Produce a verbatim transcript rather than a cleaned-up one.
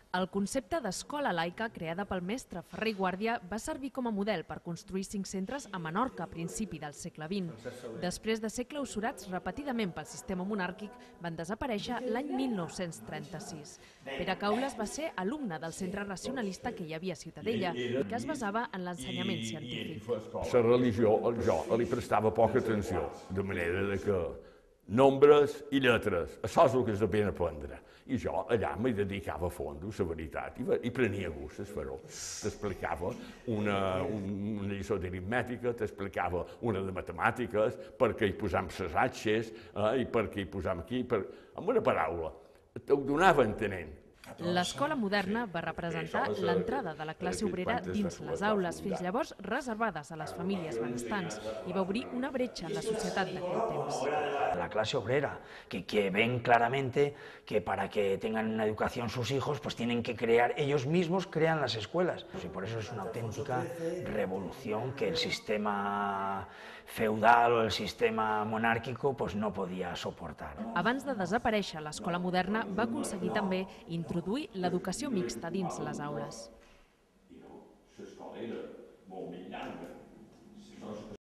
El concepte d'escola laica, creada pel mestre Ferrer i Guàrdia, va servir com a model per construir cinc centres a Menorca a principi del segle vint. Després de ser clausurats repetidament pel sistema monàrquic, van desaparèixer l'any mil nou-cents trenta-sis. Pere Caules va ser alumne del centre racionalista que hi havia a Ciutadella i que es basava en l'ensenyament científic. La religió, jo li prestava poca atenció, de manera que nombres i lletres, això és el que és de pena aprendre. I jo allà m'hi dedicava a fons, la veritat, i prenia gust a fer-ho. T'explicava una lliçó d'aritmètica, t'explicava una de matemàtiques, per què hi posam les atxes, i per què hi posam aquí, amb una paraula. T'ho donava entenent. L'escola moderna va representar l'entrada de la classe obrera dins les aules, fins llavors reservades a les famílies benestants, i va obrir una bretxa en la societat d'aquell temps. La clase obrera, que, que ven claramente que para que tengan una educación sus hijos, pues tienen que crear, ellos mismos crean las escuelas. Y por eso es una auténtica revolución que el sistema feudal o el sistema monàrquico pues no podia soportar. Abans de desaparèixer, l'escola moderna va aconseguir també introduir l'educació mixta dins les aules.